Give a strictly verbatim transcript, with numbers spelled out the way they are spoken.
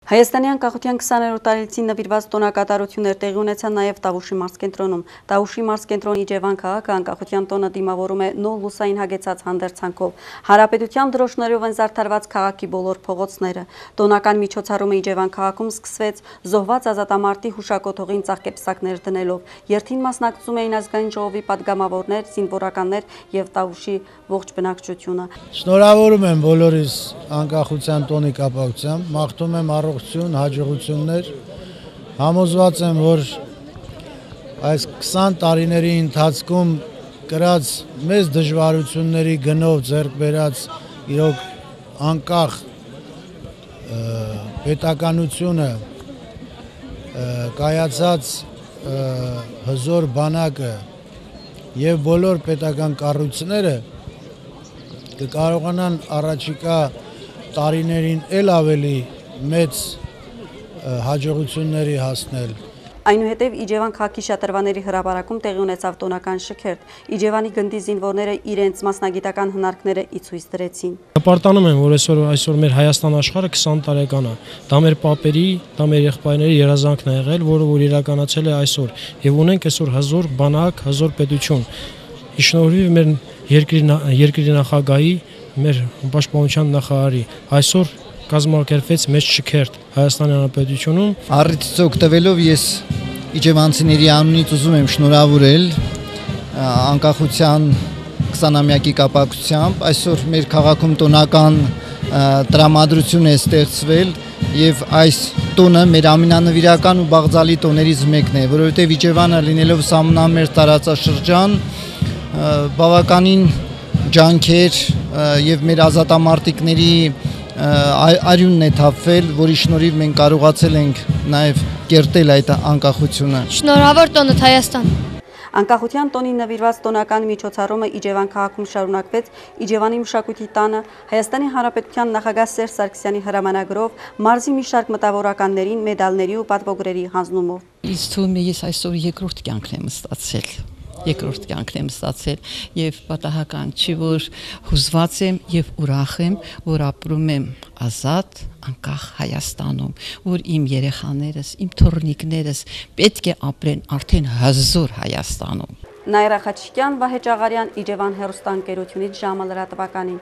Հայաստանի անկախության քսաներորդ տարելիցին նվիրված տոնակատարություններ տեղի ունեցան նաև Տավուշի մարզկենտրոնում։ Տավուշի մարզկենտրոնի Իջևան քաղաքը անկախության տոնը դիմավորում է նոր լուսային հագեցած հանդերձանքով։ Հանրապետության դրոշներով են զարդարված քաղաքի բոլոր փողոցները։ Տոնական միջոցառումը Իջևան քաղաքում սկսվեց զոհված ազատամարտի հուշակոթողին ծաղկեպսակներ դնելով։ Երթին մասնակցում էին ազգային ժողովի падգամավորներ, զինվորականներ եւ Տավուշի ողջ բնակչությունը։ Շնորհավորում եմ բոլորիս անկախության տոնի կապակցությամբ, մաղթում եմ առողջություն, հաջողություններ, համոզված եմ, որ այս քսան տարիների ընթացքում կրած մեծ դժվարությունների գնով ձեռք բերած իրոք անկախ պետականությունը, կայացած հզոր բանակը եւ բոլոր պետական կառույցները կկարողանան առաջիկա տարիներին ել ավելի մեծ հաջողությունների հասնել։ Այնուհետև Իջևան քաղաքի շատրվանների հրապարակում տեղի ունեցավ տոնական շքերթ։ Իջևանի գնդի զինվորները իրենց մասնագիտական հնարքները ի ցույց դրեցին։ Հպարտանում եմ, որ այսօր այսօր մեր Հայաստան աշխարհը քսան տարեկան է։ Դա մեր պապերի, դա մեր եղբայրների երազանքն է եղել, որը որ իրականացել է այսօր։ Եվ ունենք այսօր հզոր բանակ, հզոր պետություն։ Իշնորհիվ մեր երկրի երկրի նախագահի, մեր պաշտպանության նախարարի այսօր կազմակերպվեց մեծ շքերթ Հայաստանի Հանրապետությունում։ Առիթից օգտվելով ես իջևանցիների անունից ուզում եմ շնորհավորել անկախության քսանամյակի կապակցությամբ։ Այսօր մեր քաղաքում տոնական տրամադրություն է ստեղծվել եւ այս տոնը մեր ամենանվիրական ու բաղձալի տոներից մեկն է, որովհետեւ Իջևանը լինելով սահմանամերձ տարածաշրջան բավականին ջանքեր եւ մեր ազատամարտիկների արյունն է թափվել, որի շնորհիվ մենք կարողացել ենք նաև կերտել այդ անկախությունը։ Շնորհավոր տոնդ Հայաստան։ Անկախության տոնին նվիրված տոնական միջոցառումը Իջևան քաղաքում շարունակվեց Իջևանի մշակույթի տանը Հայաստանի Հանրապետության նախագահ Սերժ Սարգսյանի հրամանագրով մարզի մի շարք մտավորականներին մեդալների ու պատվոգրերի հանձնումով։ Ինձ թվում է ես այսօր երկրորդ կյանքն եմ ստացել։ Երկրորդ կյանքն եմ ստացել եւ պատահական չի, որ հուզված եմ եւ ուրախ եմ, որ ապրում եմ ազատ, անկախ Հայաստանում, որ իմ երեխաներս, իմ թոռնիկներս պետք է ապրեն արդեն հզոր Հայաստանում։ Նաիրա Խաչիկյան, Վահե Ճաղարյան, Իջևան հեռուստաընկերությունից ժամը լրատվականին։